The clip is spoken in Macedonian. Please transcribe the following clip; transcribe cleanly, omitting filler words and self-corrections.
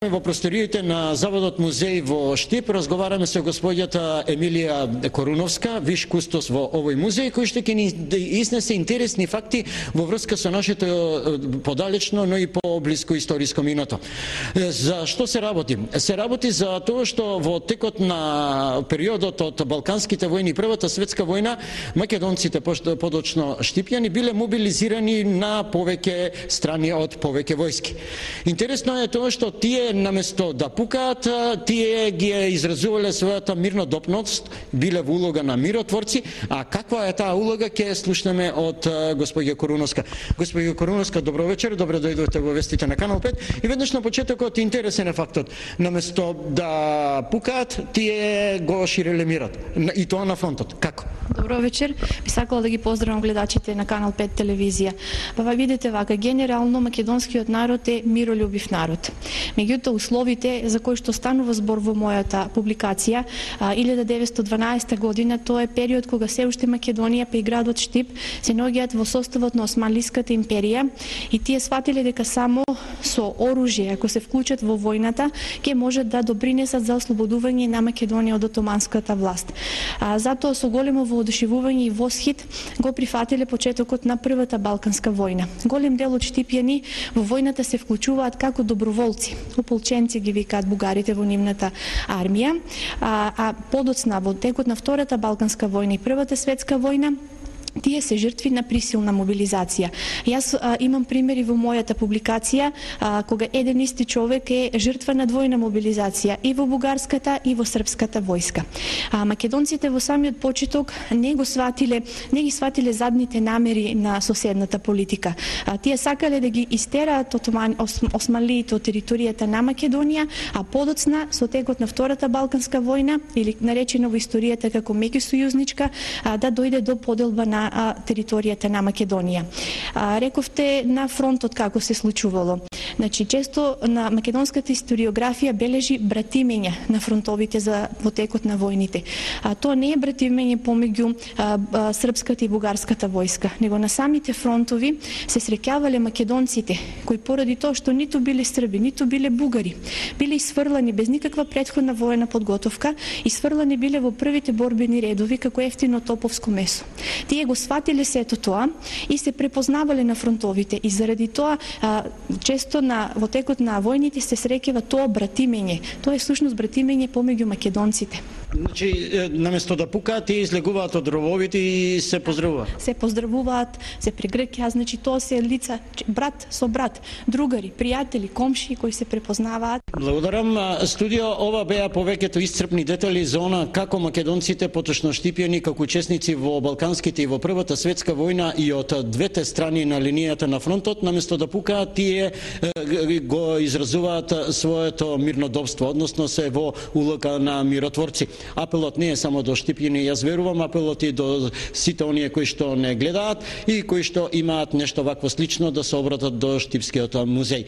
Во просториите на Заводот музеј во Штип разговараме со господјата Емилија Коруновска, виш кустос во овој музеј, кој што ќе ни изнесе интересни факти во врска со нашето подалечно, но и поблиско историско минато. За што се работи? Се работи за тоа што во текот на периодот од Балканските војни и Првата светска војна, македонците, подочно штипјани, биле мобилизирани на повеќе страни од повеќе војски. Интересно е тоа што тие наместо да пукаат, тие ги изразувале својата мирнодопност, биле во улога на миротворци, а каква е таа улога ќе слушнеме од господја Коруновска. Господја Коруновска, добро вечер, добро дојдовте во вестите на Канал 5 и веднаш на почетокот интересен е фактот. Наместо да пукаат, тие го ширеле мирот, и тоа на фронтот. Како? Добро вечер. Би сакала да ги поздравам гледачите на Канал 5 телевизија. Видите вака, генерално македонскиот народ е миролюбив народ. Меѓутоа условите за кои што станува збор во мојата публикација, 1912 година, тоа е период кога се уште Македонија па и градот Штип се наоѓаат во составот на Османлиската империја и тие сватиле дека само со оружје, ако се вклучат во војната, ќе можат да допринесат за ослободување на Македонија од отоманската власт. Затоа со големо воодушевување и восхит го прифатиле почетокот на Првата Балканска војна. Голем дел од штипјани во војната се вклучуваат како доброволци. Ополченци ги викаат бугарите во нивната армија, а подоцна во текот на Втората Балканска војна и Првата светска војна тие се жртви на присилна мобилизација. Јас имам примери во мојата публикација кога еден исти човек е жртва на двојна мобилизација и во бугарската и во српската војска. Македонците во самиот почеток не ги сватиле задните намери на соседната политика. Тие сакале да ги истераат османлиите од територијата на Македонија, а подоцна со текот на Втората Балканска војна, или наречена во историјата како меѓусојузничка, да дојде до поделба на територијата на Македонија. Рековте на фронтот како се случувало. Значи, често на македонската историографија бележи братимења на фронтовите во текот на војните. Тоа не е братимење помеѓу српската и бугарската војска, него на самите фронтови се среќавале македонците, кои поради тоа што ниту биле срби, ниту биле бугари, биле исфрлани без никаква претходна воена подготовка, исфрлани биле во првите борбени редови како ефтино топовско месо. Тие го сватиле сето тоа и се препознавале на фронтовите и заради тоа често во текот на војните се среќава тоа братимење. Тоа е всушност братимење помеѓу македонците. Значи, наместо да пукаат, тие излегуваат од рововите и се поздравуваат. Се поздравуваат, се прегркјаат, значи тоа се лица брат со брат, другари, пријатели, комши кои се препознаваат. Благодарам. Студио, ова беа повеќето исцрпни детали за она како македонците, поточно штипјани, како учесници во Балканските и во Првата светска војна и од двете страни на линијата на фронтот, наместо да пукаат, тие го изразуваат своето мирнодопство, односно се во улога на миротворци. Апелот не е само до штипјани, јас верувам, апелот и до сите оние кои што не гледаат и кои што имаат нешто вакво слично да се обратат до Штипскиот музеј.